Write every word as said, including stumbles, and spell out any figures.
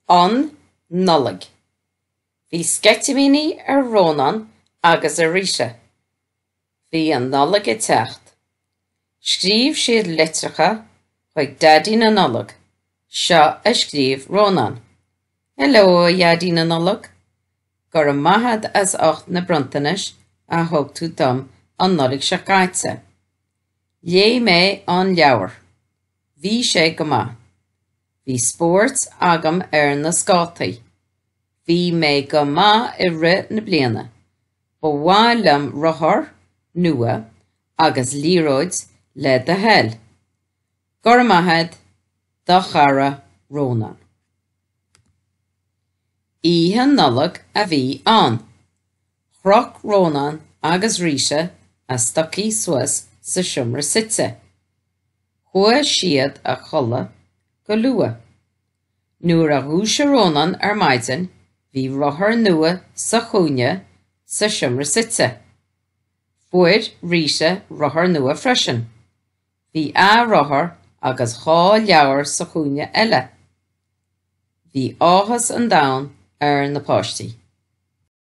An Nollaig. Bhí sceitimíní ar Rónán agus ar Rita. Bhí an Nollaig ag teacht. Scríobh siad litreacha chuig Daidí na Nollag. Seo a scríobh Rónán. Hello, a Dhaidí na Nollag. Go raibh maith agat as ucht na bronntanais a thug tú dom an Nollaig seo caite. Léigh mé an leabhar. Bhí sé go maith. Bhí spórt agam ar na scátaí. Bhí mé go maith i rith na bliana. Ba mhaith liom rothar nua agus liathróid le do thoil. Go raibh maith agat, do chara Rónán. Oíche Nollag a bhí ann. Chroch Rónán agus Rita a stocaí suas sa seomra suite. Chuaigh siad a chodladh go luath. Nuair a dhúisigh Rónán ar maidin, bhí rothar nua sa chúinne sa seomra suite. Fuair Rita rothar nua freisin. Bhí a rothar agus dhá leabhar sa chúinne eile. Bhí áthas an domhain ar na páistí.